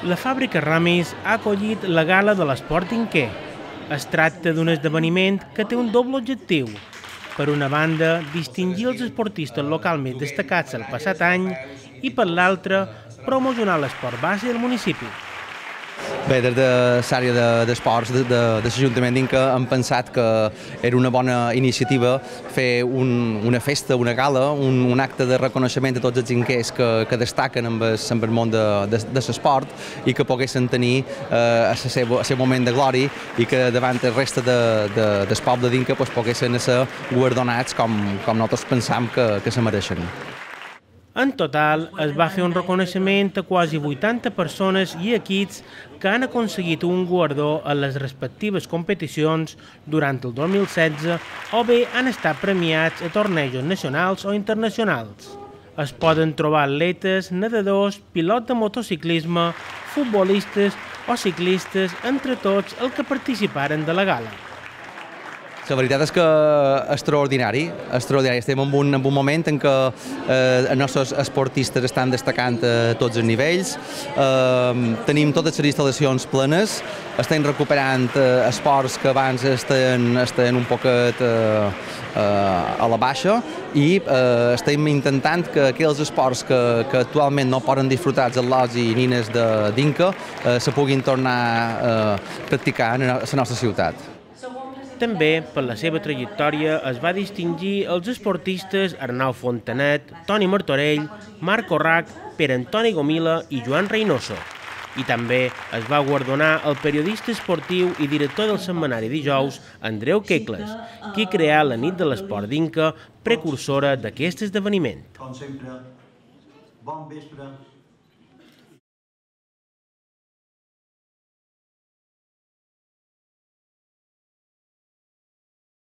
La fàbrica Ramis ha acollit la Gala de l'Esport Inquer. Es tracta d'un esdeveniment que té un doble objectiu. Per una banda, distingir els esportistes localment destacats el passat any i per l'altra, promocionar l'esport base del municipi. Bé, des de l'àrea d'esports de l'Ajuntament d'Inca hem pensat que era una bona iniciativa fer una festa, una gala, un acte de reconeixement a tots els inquers que destaquen en el món de l'esport i que poguessin tenir el seu moment de glòria i que davant el resta del poble d'Inca poguessin ser guardonats com nosaltres pensam que se mereixen. En total, es va fer un reconeixement a quasi 80 persones i equips que han aconseguit un guardó en les respectives competicions durant el 2016 o bé han estat premiats a tornejos nacionals o internacionals. Es poden trobar atletes, nedadors, pilots de motociclisme, futbolistes o ciclistes, entre tots els que participaren de la gala. La veritat és que extraordinari. Estem en un moment en què els nostres esportistes estan destacant a tots els nivells, tenim totes les instal·lacions plenes, estem recuperant esports que abans estaven un poquet a la baixa i estem intentant que aquells esports que actualment no poden disfrutar els atlots i nines d'Inca se puguin tornar a practicar en la nostra ciutat. També, per la seva trajectòria, es va distingir els esportistes Arnau Fontanet, Toni Martorell, Marc Orrac, Pere Antoni Gomila i Joan Reynoso. I també es va guardonar el periodista esportiu i director del setmanari Dijous, Andreu Quecles, qui creà la Nit de l'Esport d'Inca, precursora d'aquest esdeveniment. Com sempre, bon vespre.